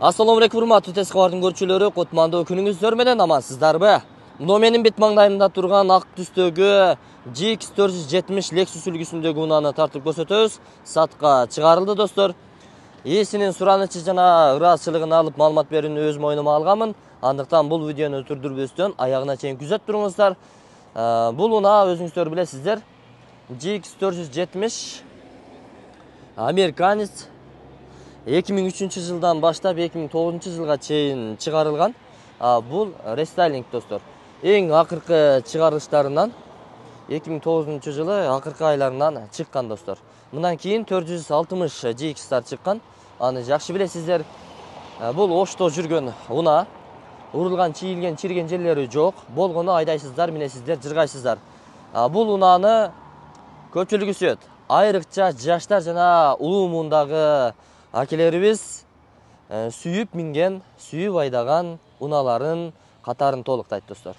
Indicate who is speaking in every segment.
Speaker 1: Assalamu alaikum урматтуу тез кабардын көрүүчүлөрү, кутмандуу күнүңүздөр менен амансыздарбы? Мына менин бет маңдайымда турган ак түстөгү GX 470 Lexus үлгүсүндөгү унааны тартып көрсөтөбүз. Сатка чыгарылды достор. Ээсинин суранычы жана ыраазычылыгын алып маалымат берүүнү өз мойнума алганмын. Андыктан бул видеону түрдүрбөстөн аягына чейин күзөтүп туруңуздар. Бул унаа өзүңүздөр билесиздер. GX 470 американец 2003 жылдан баштап 2009 жылга чейин чыгарылган. Бул рестайлинг достор. Эң акыркы чыгарылыштарынан 2009 жылы акыркы айларынан чыккан достор. Мындан кийин 460 GX-тар чыккан. Аны жакшы билесиздер. Бул ошто жүргөн унаа. Урулган, чийилген, чирген жерлери жок. Болгону айдайсыздар, минесиздер, жыргайсыздар. Бул унааны көпчүлүгү сүйөт. Айрыкча жаштар жана улуу муундагы акелерибиз сүйүп минген, сүйүп айдаган унааларын катарын толуктайт достор.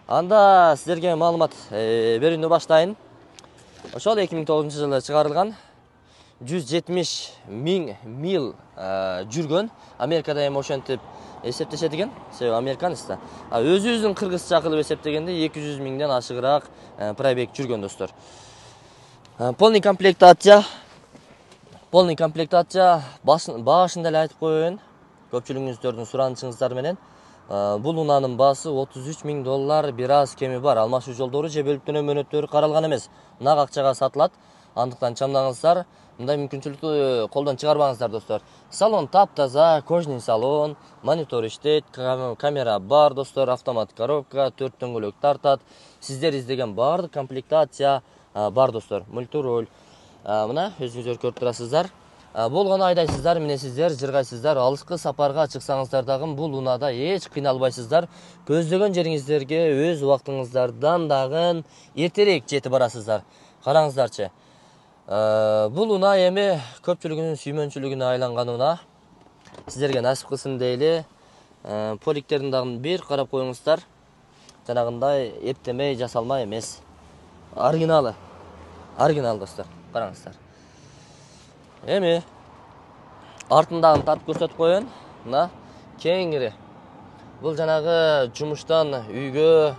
Speaker 1: Анда сиздерге маалымат берүүнү баштайын. Ошол 2009 жылы чыгарылган 170 000 мил жүргөн. Америкада эми ошентип эсептешет экен. Себеби американец да. Өзүбүздүн кыргызча кылып эсептегенде 200 000ден ашыгыраак пробег жүргөн достор. Полный комплектация. Башында эле айтып коеюн. Көпчүлүгүңүздөрдүн суранычыңыздар менен. Бул унаанын баасы $33 000, бир аз кеми бар. Алмашуу жолдору же бөлүп төлөө мөөнөттөрү каралган эмес. Нак акчага сатылат. Андыктан чамдаңыздар. Мындай мүмкүнчүлүктү колдон чыгарбаңыздар достор. Салон таптаза, кожный салон, монитор иштейт, камера бар достор, автомат коробка, 4 дөңгөлөк тартат. Сиздер издеген баардык комплектация бар достор. Мультироль. Мына өзүңүздөр көрүп турасыздар. Болгону айдайсыздар, минесиздер, жыргайсыздар, алыскы сапарга чыксаңыздар дагы бул унаада эч кыйналбайсыздар. Көздөгөн жериңиздерге өз убактыңыздардан дагы эртерээк жетип барасыздар. Караңыздарчы. Бул унаа эми көпчүлүгүнүн сүймөнчүлүгүнө айланган унаа. Сиздерге насип кылсын дейли. Поликтерин дагы бир карап коюңуздар. Жанагындай эптемей, жасалма эмес. Оригинал достор. Караңыздар. Эми артындагын тартып көрсөтүп коеюн. Мына кеңири. Бул жанагы жумуштан үйгө,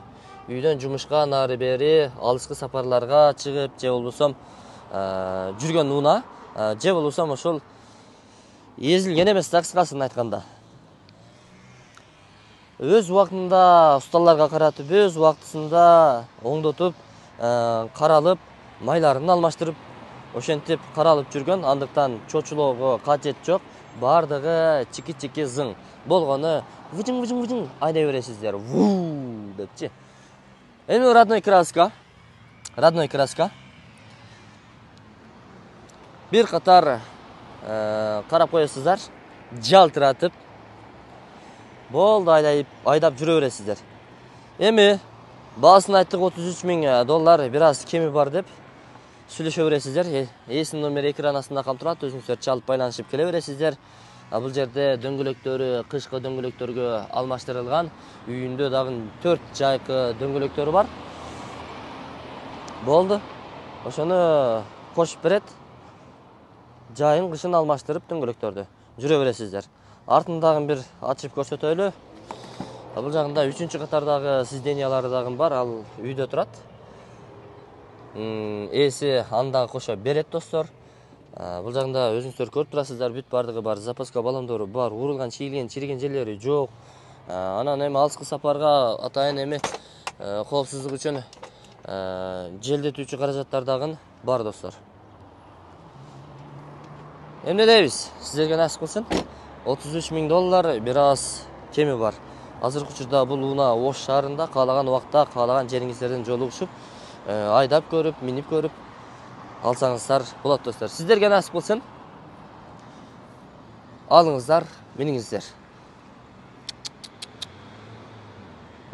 Speaker 1: үйдөн жумушка нары бери алыскы сапарларга чыгып, же болбосо жүргөн унаа, же болбосо ошол эзилген эмес да, кыскасын айтканда. Өз убактында усталарга каратып, өз убактысында оңдотуп, каралып, майларын алмаштырып, ошентип каралып жүргөн. Андыктан чочулоого кажет жок. Бардыгы чики-чики зың. Болгону выжың айдай бересиздер. Вуу депчи. Эми родной краска. Бир катар карап коесуздар. Жалтыратып. Болду, айдап жүрө бересиздер. Эми баасын айттык $33 000, бир аз кеми бар деп сүйлөшө бересиздер. Ээсинин номери экран астында калтырат, өзүңүздөр чалып байланышып келе бересиздер. Бул жерде дөңгөлөктөрү кышкы дөңгөлөктөргө алмаштырылган. Үйүндө дагы 4 жайкы дөңгөлөктөрү бар. Болду. Ошону кошуп берет. Жайын кышын алмаштырып дөңгөлөктөрдү жүрө бересиздер. Артындагы бир ачып көрсөтөлү. Бул жагында 3-чү катардагы сиденьялары дагы бар, ал үйдө турат. Ээси анда кошо берет достор. Бул жагында өзүңүздөр көрүп турасыздар, бүт бардыгы бар, запаска баллондору бар, урулган, чийилген, чириген жерлери жок. Анан эми алыскы сапарга атайын эми коопсуздук үчүн желдетүүчү каражаттар дагы бар достор. Эмне дейбиз? Сиздерге насип кылсын. $33 000, бир аз кеми бар. Азыркы учурда бул унаа Ош шаарында каалаган убакта, каалаган жериңиздерден жолугушуп, айдап көрүп, минип көрүп алсаңыздар болот достор. Сиздерге насип кылсын. Алыңыздар, миниңиздер.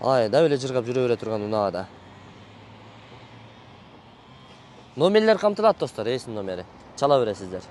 Speaker 1: Айдап эле жыргап жүрө бере турган унаада. Номерлер камтылат достор, ээсинин номери. Чала бересиздер.